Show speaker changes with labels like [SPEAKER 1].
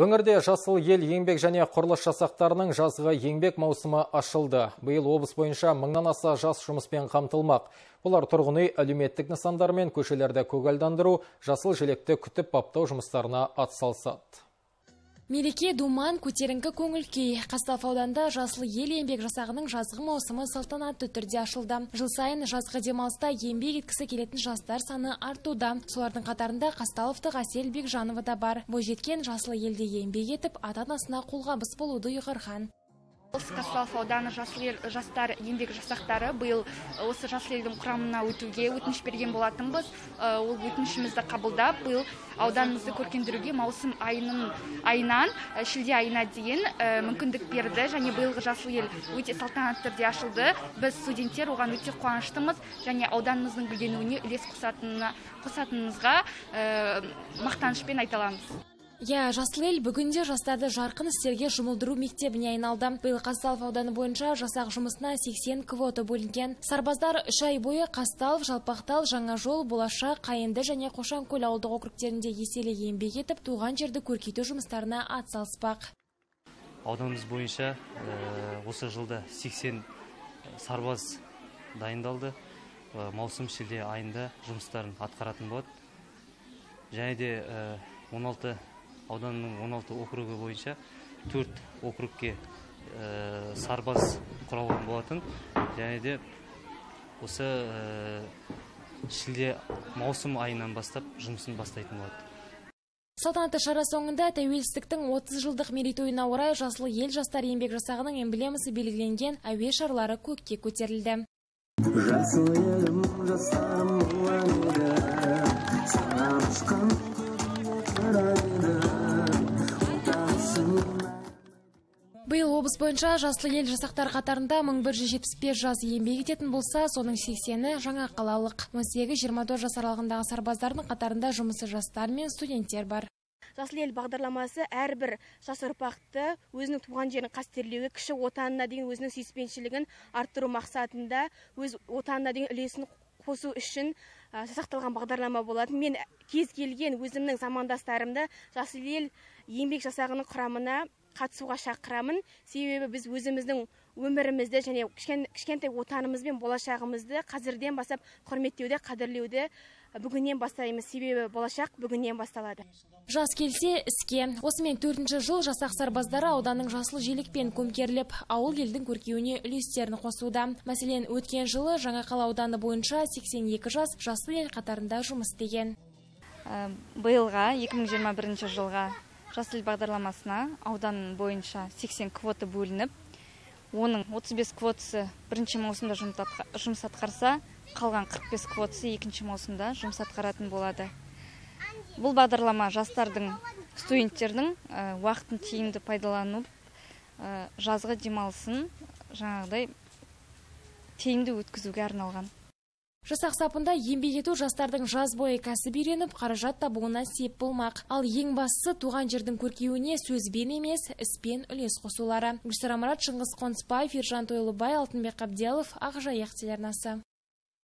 [SPEAKER 1] Өңірде жасыл ел еңбек және құрылыс жасақтарының жазғы еңбек маусымы ашылды. Биыл облыс бойынша мыңнан аса жас жұмыспен қамтылмақ. Олар тұрғын үй, әлеуметтік нысандар мен көшелерді көгалдандыру, жасыл желекті күтіп баптау жұмыстарына атсалысады.
[SPEAKER 2] Мереке думан, көтеріңкі көңіл күй. Қазталов ауданында жасыл ел еңбек жасағының жазғы маусымы салтанатты түрде ашылды. Жыл сайын жазғы демалыста еңбек еткісі келетін жастар саны артуда. Солардың қатарында Қазталовтық Әсел Бекжанова да бар. Бойжеткен жасыл елде еңбек етіп, ата-анасына қолғабыс болуды ұйғарған.
[SPEAKER 3] Қазталов ауданы жасыл ел жастар еңбек жасақтары биыл осы жасыл елдің құрамына өтуге өтініш берген болатынбыз. Ол өтінішімізді қабылдап, биыл ауданымызды көркендіруге маусым айынан шілде айына дейін мүмкіндік берді. Және биылғы жасыл ел өте салтанатты түрде ашылды. Біз студенттер оған өте қуаныштымыз және ауданымыздың гүлденуіне үлес қосатынымызға мақтанышпен айта аламыз.
[SPEAKER 2] Жасыл ел бүгінде жастарды жарқын істерге жұмылдыру мектебіне айналды. Биыл Қазталов ауданы бойынша жасақ жұмысына 80 квота бөлінген. Сарбаздар 3 ай бойы Қазталов, Жалпақтал, Жаңажол, Болашақ, Қайынды және Қошанкөл ауылдық округтерінде еселі еңбек етіп, туған жерді көркейту жұмыстарына атсалыспақ.
[SPEAKER 4] Ауданымыз бойынша осы жылда 80 сарбаз дайындалды. Маусым шілде айында жұмыстарын атқаратын болады. Және де 16 ауданның 16 округі бойынша 4 округке сарбаз құралған болатын. Және де осы шілде маусым айынан бастап жұмысын бастайтын болады.
[SPEAKER 2] Салтанатты шара соңында тәуелсіздіктің 30 жылдық мерейтойына орай жасыл ел жастар еңбек жасағының эмблемасы белгіленген әуе шарлары көкке көтерілді.
[SPEAKER 5] Жасыл елім, жастарым ұланеді, саған ұшқан
[SPEAKER 2] Биыл облыс бойынша жасыл ел жасақтар қатарында 1175 жас еңбек ететін болса, соның 80-і жаңа қалалық. 18-24 жас аралығындағы сарбаздардың қатарында жұмысы жастар мен студенттер бар.
[SPEAKER 6] Жасыл ел бағдарламасы әрбір жас ұрпақты өзінің туған жерін қастерлеуі, кіші отанына деген өзінің сүйіспеншілігін арттыру мақсатында өз отанына деген үлесін қосу үшін жасақталған бағдарлама болады. Мен кез келген өзімнің замандастарымды жасыл ел еңбек жасағының құрамына қатысуға шақырамын. Себебі біз өзіміздің өмірімізді және кішкентай отанымыз бен болашағымызды қазірден бастап құрметтеуді, қадірлеуді бүгіннен бастаймыз. Себебі болашақ бүгіннен басталады.
[SPEAKER 2] Жас келсе іске. Осымен 4-ші жыл жасақ сарбаздары ауданның жасыл желекпен көмкеріліп, ауыл елдің көркеуіне үлестерін қосуда. Мәселен, өткен жылы Жаңақала ауданы бойынша 82 жас жасыл ел қатарында жұмыс істеген.
[SPEAKER 3] Биылға 2021 жылға жасыл ел бағдарламасына аудан бойынша 80 квота бөлініп, оның 35 квотасы бірінші маусымда жұмыс атқарса, қалған 45 квотасы екінші маусымда жұмыс атқаратын болады. Бұл бағдарлама жастардың, студенттердің уақытын тиімді пайдаланып, жазғы демалысын жаңағыдай тиімді өткізуге арналған.
[SPEAKER 2] Жасақ сапында еңбек ету жастардың жаз бойы кәсіп үйреніп, қаражат табуына сеп болмақ. Ал ең бастысы туған жердің көркеуіне сөзбен емес, іспен үлес қосулары. Гүлсара Марат, Шыңғыс Қонысбаев, Ержан Тойлыбай, Алтынбек Қабделов, Ақжайық телеарнасы.